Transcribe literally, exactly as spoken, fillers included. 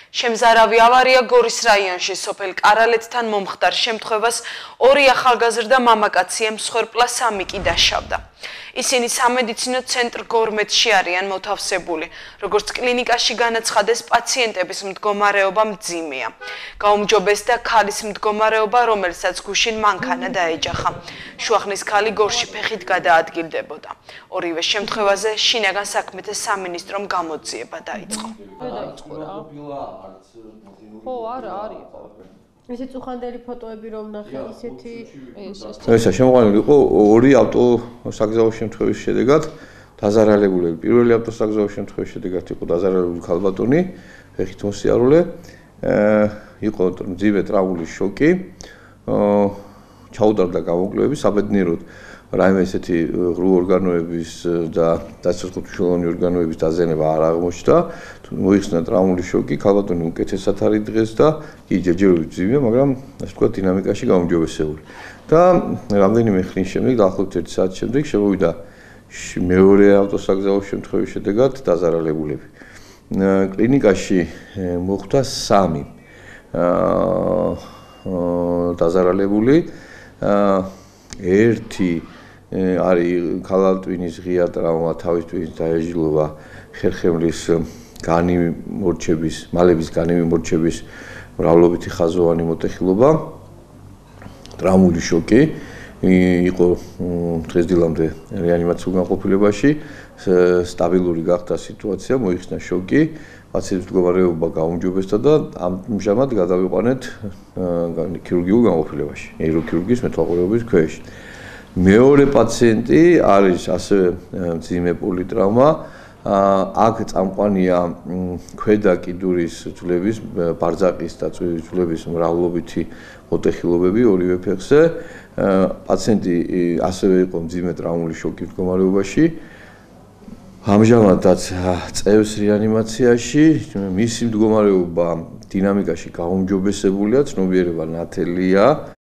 შემზარავი ავარია გორის რაიონში სოფელ კარალეთთან მომხდარ შემთხვევას ორი ახალგაზრდა მამაკაცი მსხვერპლა სამი კი დაშავდა. ისინი სამედიცინო ცენტრ გორმეთში არიან მოთავსებული, როგორც კლინიკაში განაცხადეს პაციენტების მდგომარეობა მძიმეა. გაუმჯობესდა ქალის მდგომარეობა, რომელსაც გუშინ მანქანა დაეჯახა. შუახნის ქალი გორში ფეხით გადაადგილდებოდა. ორივე შემთხვევაზე შინაგან საქმეთა სამინისტრომ გამოძიება დაიწყო. ხო, არა, არის. ესე წუხანდელი ფოტოები რომ ნახე, ისეთი ესა შემოყვანილი იყო ორი ავტოსაგზაო შემთხვევის შედეგად დაზარალებულები. პირველი ავტოსაგზაო შემთხვევის შედეგად იყო დაზარალებული ქალბატონი, ფეხით მოსიარულე, იყო მძიმე ტრავმული შოკი, ჩაუდარდა გამოკვლევები საბედნიეროდ რაიმე ესეთი ღრუ ორგანოების და დაცვისმხელოვანი ორგანოების დაზიანება არ აღმოჩნდა. მოიხსნა ტრავმული შოკი, ქალბატონი უკეთესად არის დღეს და კი ჯერჯერობით მძიმეა, მაგრამ ასე ვთქვათ დინამიკაში გაუმჯობესებული. და რამდენიმე ხნის შემდეგ, დაახლოებით ერთი საათის შემდეგ შემოვიდა მეორე ავტოსაგზაო შემთხვევის შედეგად დაზარალებულები. კლინიკაში მოხვდა სამი დაზარალებული, ერთი არის ქალატვინის ღია ტრავმა, თავის ტვინის დაეჟილობა, ხერხემლის განიმორჩების, მალების განიმორჩების მრავლობითი ხაზოვანი მოტეხილობა, ტრავმული შოკი, იყო დღესდილამდე რეანიმაციულ განყოფილებაში, სტაბილური გახდა სიტუაცია, მოიხსნა შოკი, პაციენტის მდგომარეობა გაუმჯობესდა და ამჟამად გადავიყვანეთ ქირურგიულ განყოფილებაში, ნეიროქირურგიის მეთვალყურეობის ქვეშ. მეორე პაციენტი არის ასევე მძიმე პოლიტრავმა, აქ წამყვანია ქვედა კიდურის ძვლების, ბარძაყის და ძვლების მრავლობითი მოტეხილობები ორივე ფეხზე. პაციენტი ასევე იყო მძიმე ტრავმული შოკის მდგომარეობაში. ამჟამადაც წევს რეანიმაციაში, მისი მდგომარეობა დინამიკაში გაუმჯობესებულია, ცნობიერება ნათელია.